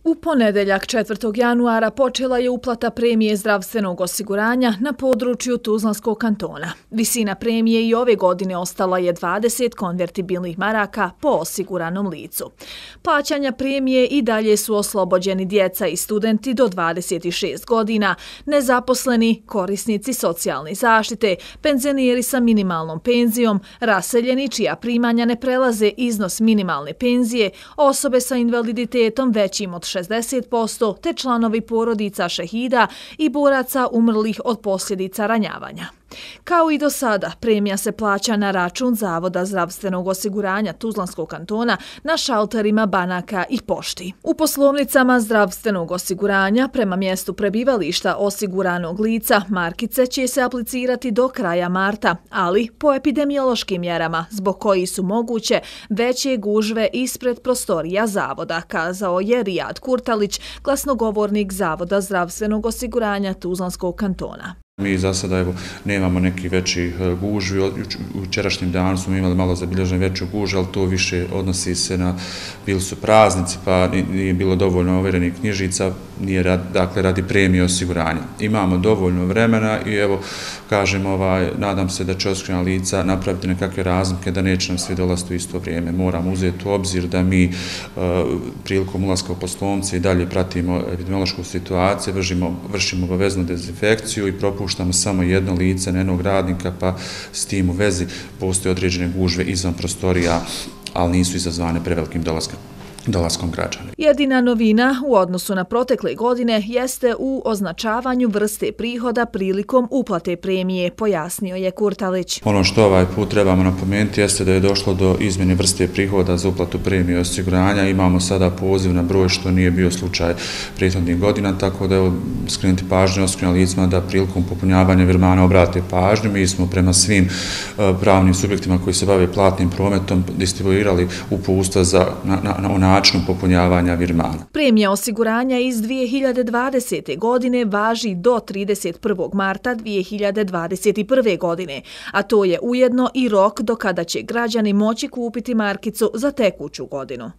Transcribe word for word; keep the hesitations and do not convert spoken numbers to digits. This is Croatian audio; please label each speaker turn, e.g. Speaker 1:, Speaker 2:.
Speaker 1: U ponedeljak četvrtog januara počela je uplata premije zdravstvenog osiguranja na području Tuzlanskog kantona. Visina premije i ove godine ostala je dvadeset konvertibilnih maraka po osiguranom licu. Plaćanja premije i dalje su oslobođeni djeca i studenti do dvadeset šest godina, nezaposleni, korisnici socijalne zaštite, penzioneri sa minimalnom penzijom, raseljeni čija primanja ne prelaze iznos minimalne penzije, osobe sa invaliditetom većim od šezdeset posto te članovi porodica šehida i boraca umrlih od posljedica ranjavanja. Kao i do sada, premija se plaća na račun Zavoda zdravstvenog osiguranja Tuzlanskog kantona na šalterima banaka i pošti. U poslovnicama zdravstvenog osiguranja prema mjestu prebivališta osiguranog lica markice će se aplicirati do kraja marta, ali po epidemiološkim mjerama zbog koji su moguće veće gužve ispred prostorija zavoda, kazao je Rijad Kurtalić, glasnogovornik Zavoda zdravstvenog osiguranja Tuzlanskog kantona.
Speaker 2: Mi za sada evo, nemamo neki veći gužvi. U jučerašnjem danu smo imali malo zabilježen veću gužvu, ali to više odnosi se na, bili su praznici pa nije bilo dovoljno overenih knjižica, nije rad, dakle radi premije osiguranja. Imamo dovoljno vremena i evo kažem, ovaj, nadam se da će osigurana lica napraviti nekakve razlike da neće nam svi dolaziti u isto vrijeme. Moramo uzeti u obzir da mi uh, prilikom ulaska u poslovnice i dalje pratimo epidemiološku situaciju, vršimo, vršimo obaveznu dezinfekciju i propuštamo puštamo samo jedno lice na jednog radnika, pa s tim u vezi postoje određene gužve izvan prostorija, ali nisu izazvane prevelikim dolaskom. dolaskom građana.
Speaker 1: Jedina novina u odnosu na protekle godine jeste u označavanju vrste prihoda prilikom uplate premije, pojasnio je Kurtalić.
Speaker 2: Ono što ovaj put trebamo napomenuti jeste da je došlo do izmjene vrste prihoda za uplatu premije osiguranja. Imamo sada poziv na broj što nije bio slučaj prethodnih godina, tako da je skrenuti pažnju osiguranim licima da prilikom popunjavanja virmana obrate pažnju. Mi smo prema svim pravnim subjektima koji se bave platnim prometom distribuirali uputstva za na, na, na načinu popunjavanja virmana.
Speaker 1: Premija osiguranja iz dvije hiljade dvadesete. godine važi do trideset prvog marta dvije hiljade dvadeset prve. godine, a to je ujedno i rok do kada će građani moći kupiti markicu za tekuću godinu.